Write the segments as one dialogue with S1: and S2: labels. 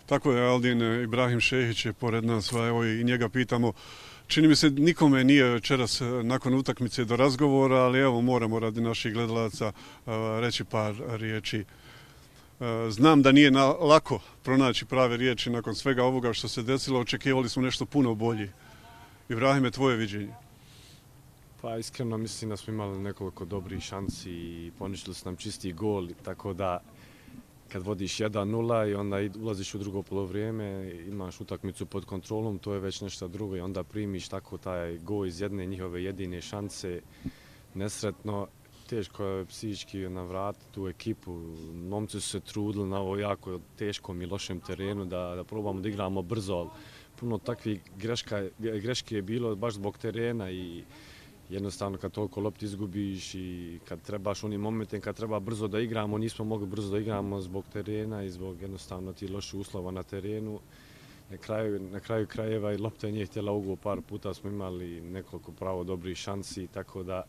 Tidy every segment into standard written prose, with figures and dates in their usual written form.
S1: Tako je, Aldin Ibrahim Šehić je pored nas, evo i njega pitamo. Čini mi se nikome nije večeras nakon utakmice do razgovora, ali evo moramo radi naših gledalaca reći par riječi. Znam da nije lako pronaći prave riječi nakon svega ovoga što se desilo, očekivali smo nešto puno bolje. Ibrahime, tvoje viđenje?
S2: Pa iskreno mislim da smo imali nekoliko dobrih šansi i poništili su nam čisti gol, tako da kad vodiš 1-0 i onda ulaziš u drugo polovrijeme, imaš utakmicu pod kontrolom, to je već nešto drugo i onda primiš tako taj gol iz jedne njihove jedine šanse. Nesretno, teško je psihički navratiti tu ekipu. Momci su se trudili na ovo jako teškom i lošem terenu da probamo da igramo brzo, ali puno takvih greške je bilo baš zbog terena i jednostavno kad toliko lopti izgubiš i kad trebaš u onim momentima kad treba brzo da igramo, nismo mogli brzo da igramo zbog terena i zbog jednostavno ti loših uslova na terenu. Na kraju krajeva i lopta nije htjela ugo, par puta smo imali nekoliko pravo dobrih šansi, tako da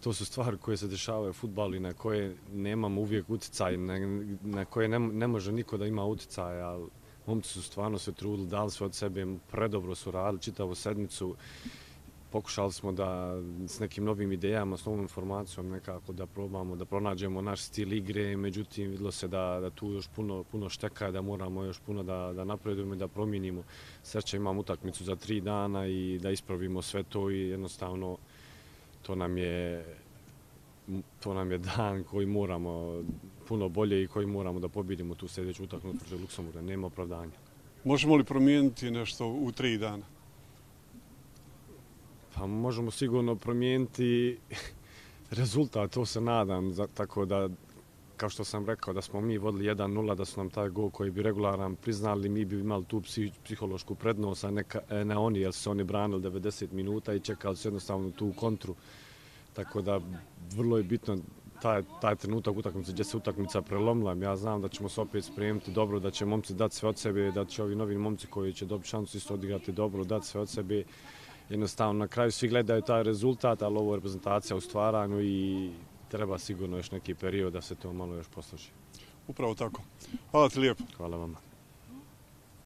S2: to su stvari koje se dešavaju u fudbalu i na koje nemamo uvijek utjecaj, na koje ne može niko da ima utjecaj, ali momci su stvarno se trudili, dali sve od sebe, predobro su radili čitavu sedmicu. Pokušali smo da s nekim novim idejama, s novom informacijom nekako da probamo, da pronađemo naš stil igre, međutim vidjelo se da tu još puno šteka, da moramo još puno da napredujemo i da promijenimo. Sreća imamo utakmicu za 3 dana i da ispravimo sve to i jednostavno to nam je dan koji moramo puno bolje i koji moramo da pobjedimo tu sljedeću utakmicu protiv Luksemburga, nema opravdanja.
S1: Možemo li promijeniti nešto u 3 dana?
S2: Pa možemo sigurno promijeniti rezultat, to se nadam, tako da, kao što sam rekao, da smo mi vodili 1-0, da su nam taj gol koji bi regularan priznali, mi bi imali tu psihološku prednost, a ne oni, jer su oni branili 90 minuta i čekali su jednostavno tu kontru. Tako da, vrlo je bitno taj trenutak utakmice gdje se utakmica prelomila. Ja znam da ćemo se opet spremiti dobro, da će momci dati sve od sebe, da će ovi novi momci koji će dobiti šansu isto odigrati dobro, dati sve od sebe. Jednostavno, na kraju svi gledaju taj rezultat, ali ovo je reprezentacija u stvaranju i treba sigurno još neki period da se to malo još posloži.
S1: Upravo tako. Hvala ti lijepo.
S2: Hvala vama.